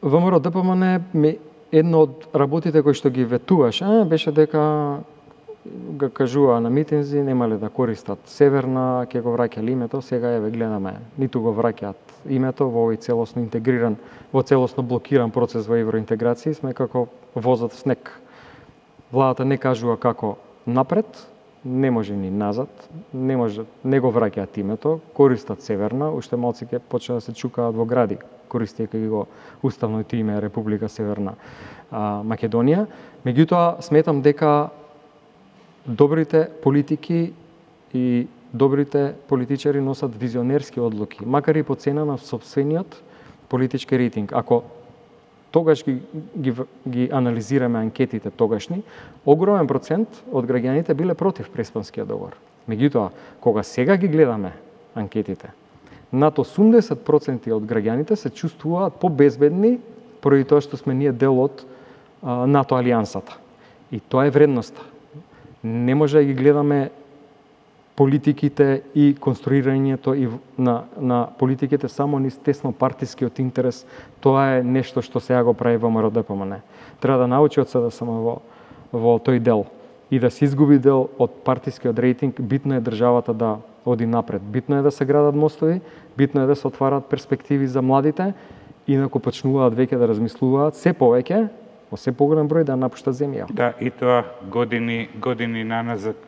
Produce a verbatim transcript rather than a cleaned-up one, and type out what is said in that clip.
ВМРО Д П М Н едно од работите кои што ги ветуваше беше дека га кажуваа на митинзи немале да користат Северна, ќе го враќале името, сега еве гледаме, ниту го враќаат името во овој целосно интегриран, во целосно блокиран процес во евроинтеграција, сме како возот в снег. Владата не кажува како напред, не може ни назад, не може, не го враќаат името, користат Северна, уште малци ќе почнат да се чукаат во гради, користејќи го уставното име Република Северна а, Македонија. Меѓутоа, сметам дека добрите политики и добрите политичари носат визионерски одлуки, макар и по цена на сопствениот политички рейтинг. Ако тогаш ги, ги, ги анализираме анкетите тогашни, огромен процент од граѓаните биле против Преспанскиот договор. Меѓутоа, кога сега ги гледаме анкетите, над осумдесет проценти од граѓаните се чувствуваат побезбедни поради тоа што сме ние дел од а, НАТО алијансата. И тоа е вредноста. Не може да ги гледаме политиките и конструирањето и на, на политиките само низ тесно партискиот интерес. Тоа е нешто што сега го прави ВМРО Д П М Н. Треба да научи од С Д С М во, во тој дел и да се изгуби дел од партискиот рейтинг. Битно е државата да оди напред. Битно е да се градат мостови, битно е да се отварат перспективи за младите, инаку почнуваат веќе да размислуваат се повеќе, во се поголем број да напуштат земја. Да, и тоа години, години наназад.